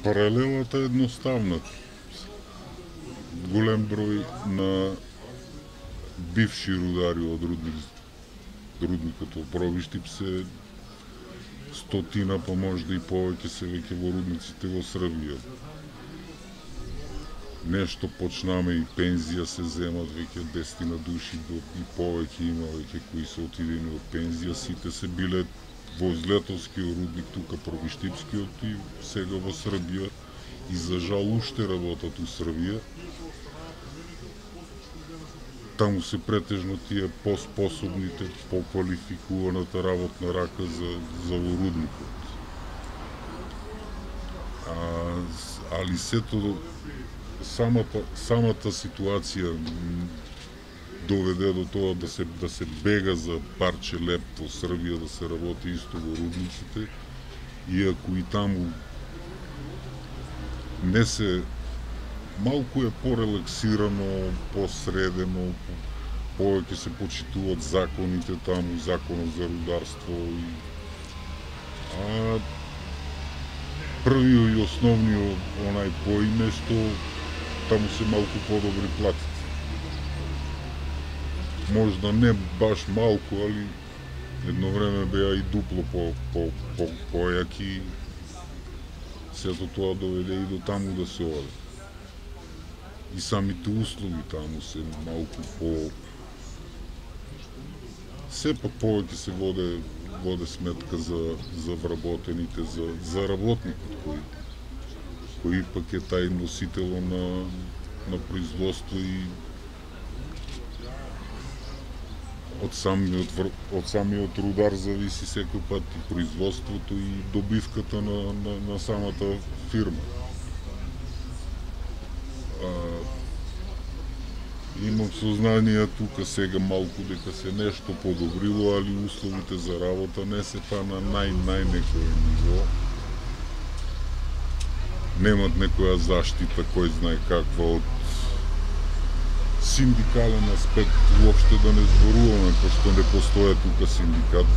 Паралелата е едноставна. Голем број на бивши рудари од рудникот во Пробиштип се стотина, па можда и повеќе се веќе во рудниците во Србија. Нешто почнаме и пензија се земат веќе 10 души и повеќе има веќе кои се отидени од пензија. Сите се биле во Злетовскиот рудник, тука Пробиштипскиот и сега во Србија. И за жал уште работат у Србија. Таму се претежно тие поспособните, поквалификуваната работна рака за во рудникот. Али сето самата ситуација доведе до тоа да се бега за парче леп во Србија, да се работи исто во рудниците, иако и таму не се малку е порелаксирано, посредено, повеќе се почитуваат законите таму, законот за рударство првиот и основниот онај поим е што таму се малку подобри платите. Можда не баш малку, али едно време беа и дупло појаки. Сето тоа доведе и до таму да се оде. И самите услови таму се малку сепак повеќе се воде сметка за вработените, за работникот кој пак е тај носител на производство и од самиот рудар зависи секој пат и производството и добивката на самата фирма. Имам сознание тука сега малку дека се нешто подобрило, али условите за работа не се па на најнекој ниво. Немат некоја заштита, кој знае каква од синдикален аспект, уопште да не зборуваме, пошто не постоја тука синдикат.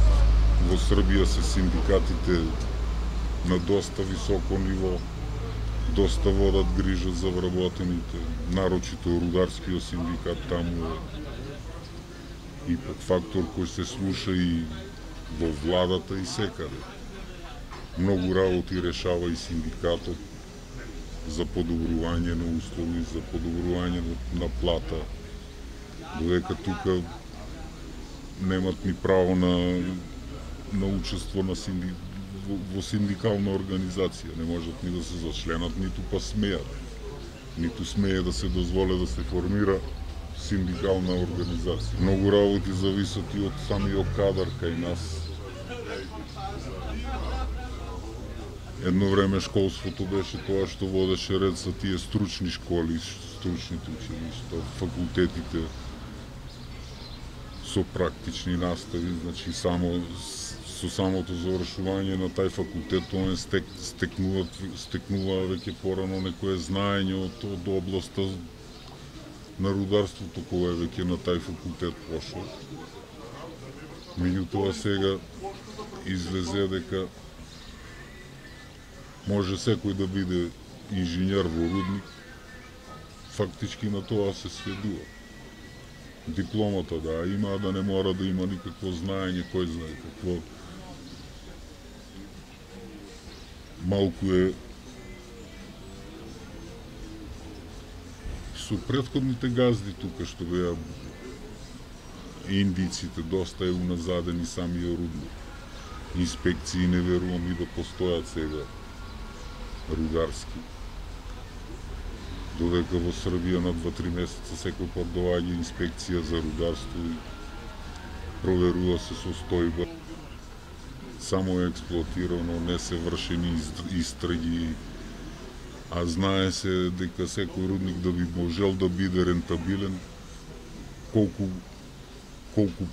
Во Србија се синдикатите на доста високо ниво, доста водат грижа за вработените, нарочито рударскиот синдикат таму е и фактор кој се слуша и во владата и секаде. Многу работи решава и синдикатот за подобрување на услови, за подобрување на плата, додека тука немат ни право на учество во синдикална организација, не можат ни да се зачленат, ниту па смеат. Ниту смее да се дозволе да се формира синдикална организација. Многу работи зависат и од самиот кадар кај нас. Едно време школството беше тоа што водеше ред за тие стручни школи, стручните училишта, факултетите со практични настави, значи со самото завршување на тај факултет он стекнува веќе порано некое знаење од областа на рударството кога е веќе на тај факултет пошол. Меѓутоа сега излезе дека може секој да биде инженер во рудник, фактички на тоа се сведува. Дипломата да има, да не мора да има никакво знаење, кој знае какво. Малку е со претходните газди тука што беа индиците, доста е уназадени самиот рудник. Инспекции не верувам и да постојат сега рударски. Додека во Србија на 2-3 месеца секој пат доаѓа инспекција за рударство и проверува се состојба. Само е експлоатирано, не се вршени истраги, а знае се дека секој рудник да би можел да биде рентабилен, колку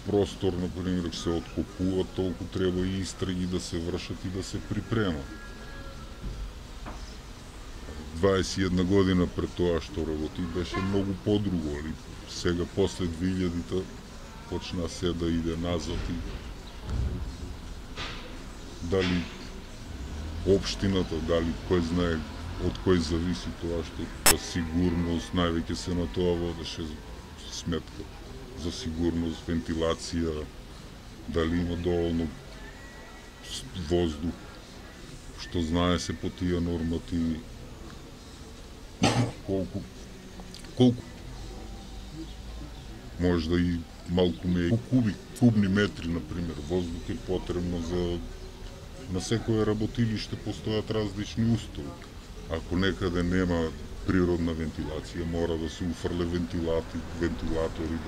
простор, например, се откопува, толку треба и истраги да се вршат и да се припремат. 21 година пред тоа што работи беше многу подруго, али сега после 2000-та почна се да иде назад и дали општината, дали кој знае од кој зависи тоа што сигурност, највеќе се на тоа водеше сметка за сигурност, вентилација, дали има доволно воздух, што знае се по тие нормативи, колку можда и малку кубни метри, например, воздух е потребно за на секое работилиште постојат различни устови. Ако некаде нема природна вентилација, мора да се уфрле вентилатори,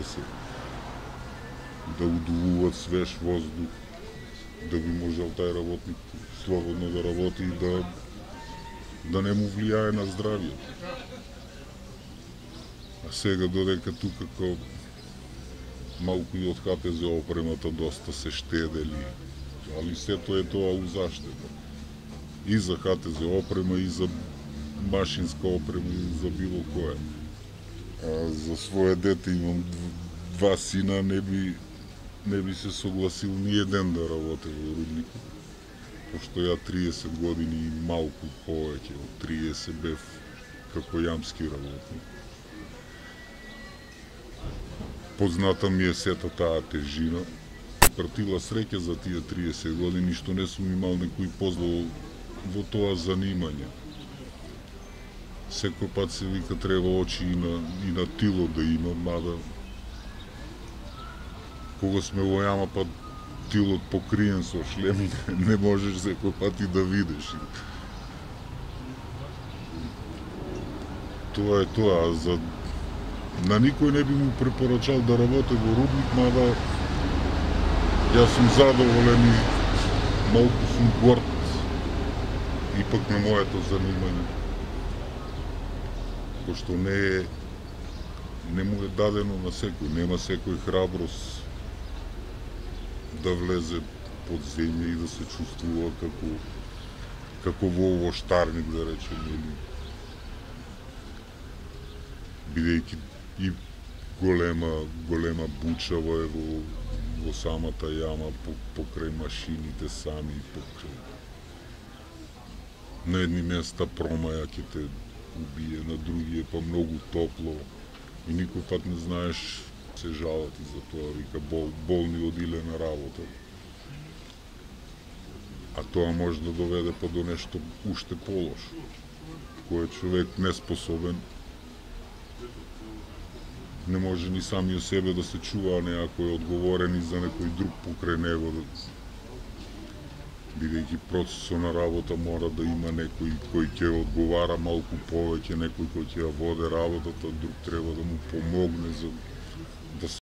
да удувуваат свеж воздух, да би можел тај работник слободно да работи и да не му влијае на здравието. А сега додека тука како малку и од ХТЗ опремата доста се штедели, али сето е тоа у заштита. И за ХТЗ опрема, и за машинска опрема, и за било кое. За свое дете имам 2 сина, не би се согласил ни еден да работи во рудникот, пошто ја 30 години и малку повеќе од 30 бев како јамски работник. Позната ми е сета таа тежина. Пратила среќа за тие 30 години што не сум имал некој позло во тоа занимање. Секој пат се вика треба очи и на тило да има, мада кога сме во јама па тилот покриен со шлем, не можеш секој пат и да видиш. Тоа е тоа. На никој не би му препорачал да работи во рудник, мада јас сум задоволен и малку сум горд ипак на моето занимање. Пошто не му е дадено на секој, нема секој храброст да влезе под земја и да се чувствува како во овоштарник, да речеме, бидејќи и голема буча во самата јама, покрај машините сами, на едни места промаја ќе те убие, на други е па многу топло и никој пат не знаеш, се жалат и за тоа, вика болни одиле на работа. А тоа може да доведе па до нешто уште полошо, кој е човек неспособен, не може ни самиот себе да се чува, а некој е одговорен и за некој друг покрај него, бидејќи процесот на работа мора да има некој кој ќе одговара малку повеќе, некој кој ќе ја воде работата, друг треба да му помогне за да